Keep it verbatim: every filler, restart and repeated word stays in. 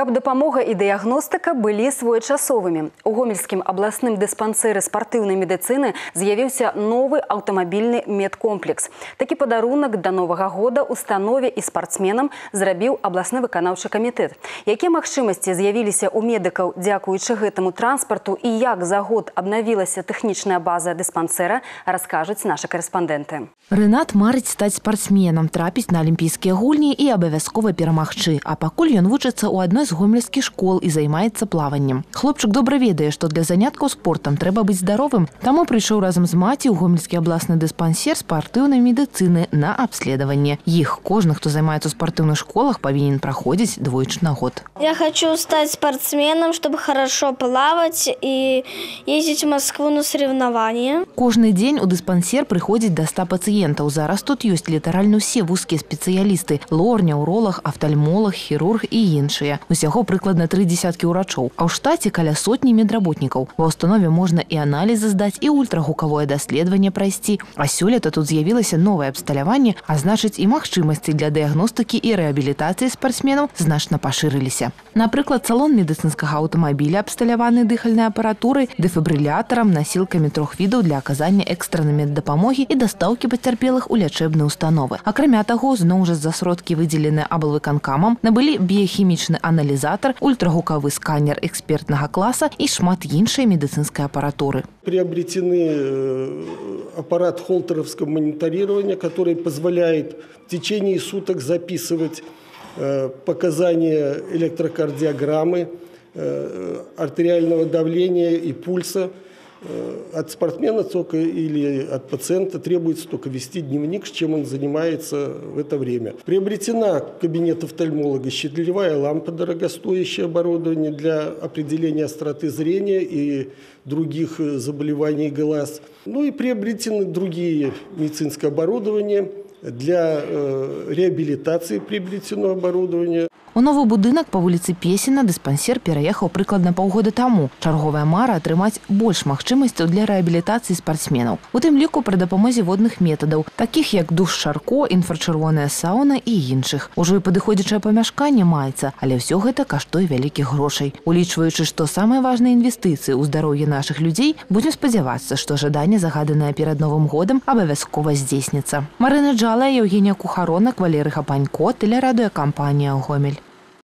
Каб дапамога і дыягностыка былі своечасовымі. У Гомельскім абласным дыспансеры спартыўнай медыцыны з'явіўся новы аўтамабільны медкомплекс. Такі падарунак да Новага года установе і спартсменам зрабіў абласны выканаўчы камітэт. Якія магчымасці з'явіліся ў медыкаў дзякуючы гэтаму транспарту і як за год абнавілася тэхнічная база дыспансера, раскажуць нашы карэспандэнты. Рэнат марыць стаць спартсменам, трапіць на алімпійскія гульні і абавязкова перамагчы. А пакуль ён вучыцца ў адной з гомельскіх школ і займаецца плаваннем. Хлопчык добра ведае, што для заняткаў спортам трэба быць здаровым, таму прыйшоў разам з маці ў Гомельскі абласны дыспансер спартыўнай медыцыны на абследаванне. Іх кожны, хто займаецца ў спартыўных школах, павінен праходзіць двойчы на год. Я хочу стать спортсменом, чтобы хорошо плавать и ездить в Москву на соревнования. Кожны дзень у дыспансер прыходзіць да ста пацыентаў. Зараз тут ёсць літаральна ўсе вузкія спецыялісты: лор, неўролаг, афтальмолаг, хірург і іншыя. Усяго прыкладна тры дзесяткі ўрачоў, а ў штаце каля сотні медработнікаў. Ва ўстанове можна і аналізы здаць, і ультрагукавое даследаванне прайсці. А сёлета тут з'явілася новае абсталяванне, а значыць і магчымасці для дыягностыкі і рэабілітацыі спартсменаў значна пашырыліся. Напрыклад, салон медыцынскага аўтамабіля абсталяваны дыхальнай апаратурай, дэфібрылятарам, насілкамі трох відаў для аказання экстраннай меддапамогі і дастаўкі пацярпелых у лячэбныя установы. Акрамя таго, зноў жа за сродкі, выдзеленыя аблвыканкамам, набылі біяхімічны аналізатор, ультрагукавы сканер экспертнага класа і шмат іншай медыцынскай апаратуры. Приобретены аппарат холтеровского мониторирования, который позволяет в течение суток записывать показания электрокардиограммы, артериального давления и пульса. От спортсмена только или от пациента требуется только вести дневник, с чем он занимается в это время. Приобретена кабинет офтальмолога щелевая лампа, дорогостоящее оборудование для определения остроты зрения и других заболеваний глаз. Ну и приобретены другие медицинское оборудование для э, реабилитации приобретенного оборудования. У новы будынак па вуліцы Песіна дыспансер пераехаў прыкладна паўгода таму. Чарговая мара атрымаць больш магчымасцяў для рэабілітацыі спартсменаў. У тым ліку пры дапамозе водных метадаў, такіх як душ Шарко, інфрачырвоная сауна і іншых. Ужо і падыходзячае памяшканне маецца, але ўсё гэта каштуе вялікіх грошай. Улічваючы, што самыя важныя інвестыцыі ў здароўе нашых людзей, будзем спадзявацца, што жаданне, загаданае перад Новым годам, абавязкова здзейсніцца. Марына Джала, Евгения Кухаронак, Валерый Хапанько, тэлерадыёкампанія «Гомель».